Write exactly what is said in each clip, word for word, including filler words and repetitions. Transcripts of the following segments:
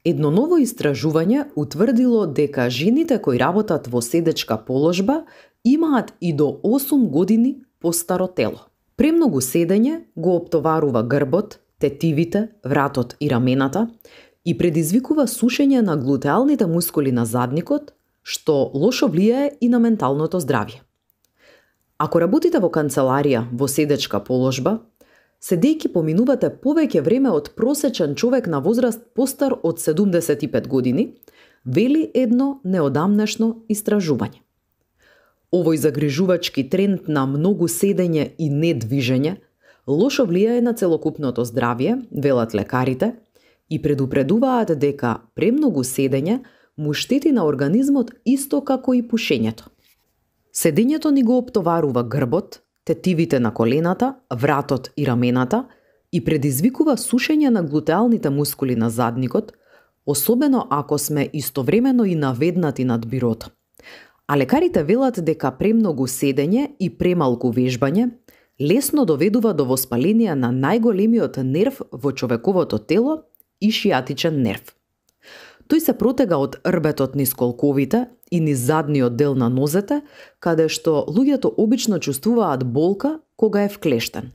Едно ново истражување утврдило дека жените кои работат во седечка положба имаат и до осум години постаро тело. Премногу седење го оптоварува грбот, тетивите, вратот и рамената и предизвикува сушење на глутеалните мускули на задникот, што лошо влијае и на менталното здравје. Ако работите во канцеларија во седечка положба, седејќи поминувате повеќе време од просечен човек на возраст постар од седумдесет и пет години, вели едно неодамнешно истражување. Овој загрижувачки тренд на многу седење и недвижење лошо влијае на целокупното здравје, велат лекарите, и предупредуваат дека премногу седење му штети на организмот исто како и пушењето. Седењето ни го оптоварува грбот, тетивите на колената, вратот и рамената и предизвикува сушење на глутеалните мускули на задникот, особено ако сме истовремено и наведнати над бирото. А лекарите велат дека премногу седење и премалку вежбање лесно доведува до воспаление на најголемиот нерв во човековото тело и шијатичен нерв. Тој се протега од рбетот низ колковите и низ задниот дел на нозете, каде што луѓето обично чувствуваат болка кога е вклештен.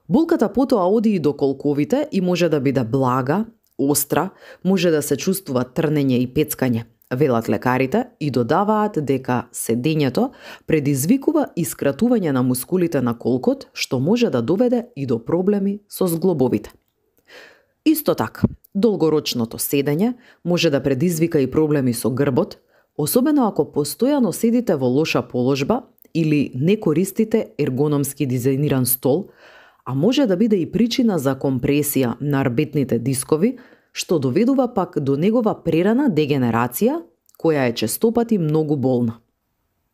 Болката потоа оди и до колковите и може да биде блага, остра, може да се чувствува трнење и пецкање, велат лекарите и додаваат дека седењето предизвикува искратување на мускулите на колкот, што може да доведе и до проблеми со зглобовите. Исто така, долгорочното седење може да предизвика и проблеми со грбот, особено ако постојано седите во лоша положба или не користите ергономски дизајниран стол, а може да биде и причина за компресија на рбетните дискови, што доведува пак до негова прерана дегенерација, која е честопати многу болно.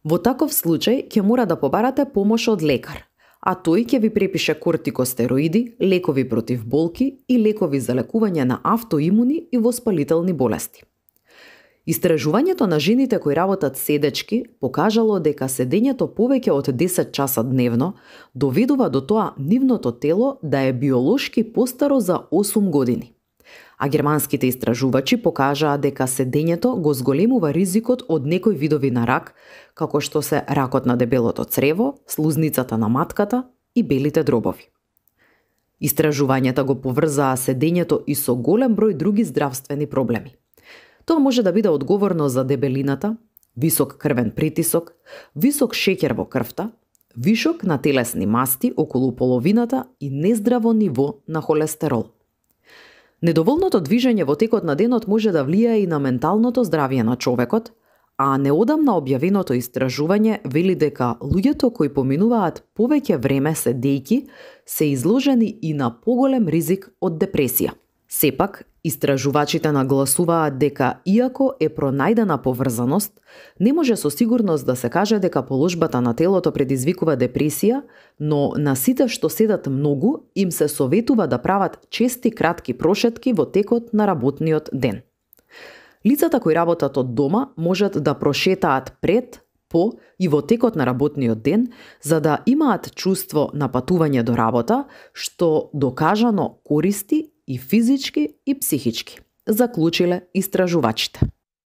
Во таков случај ќе мора да побарате помош од лекар, а тој ќе ви препише кортикостероиди, лекови против болки и лекови за лекување на автоимуни и воспалителни болести. Истражувањето на жените кои работат седечки покажало дека седењето повеќе од десет часа дневно доведува до тоа нивното тело да е биолошки постаро за осум години. А германските истражувачи покажаа дека седењето го зголемува ризикот од некои видови на рак, како што се ракот на дебелото црево, слузницата на матката и белите дробови. Истражувањата го поврзаа седењето и со голем број други здравствени проблеми. Тоа може да биде одговорно за дебелината, висок крвен притисок, висок шеќер во крвта, вишок на телесни масти околу половината и нездраво ниво на холестерол. Недоволното движење во текот на денот може да влијае и на менталното здравје на човекот, а неодамна објавеното истражување вели дека луѓето кои поминуваат повеќе време седејки се изложени и на поголем ризик од депресија. Сепак, истражувачите нагласуваат дека иако е пронајдена поврзаност, не може со сигурност да се каже дека положбата на телото предизвикува депресија, но на сите што седат многу им се советува да прават чести кратки прошетки во текот на работниот ден. Лицата кои работат од дома можат да прошетаат пред, по и во текот на работниот ден за да имаат чувство на патување до работа, што докажано користи и физички и психички, заклучиле истражувачите.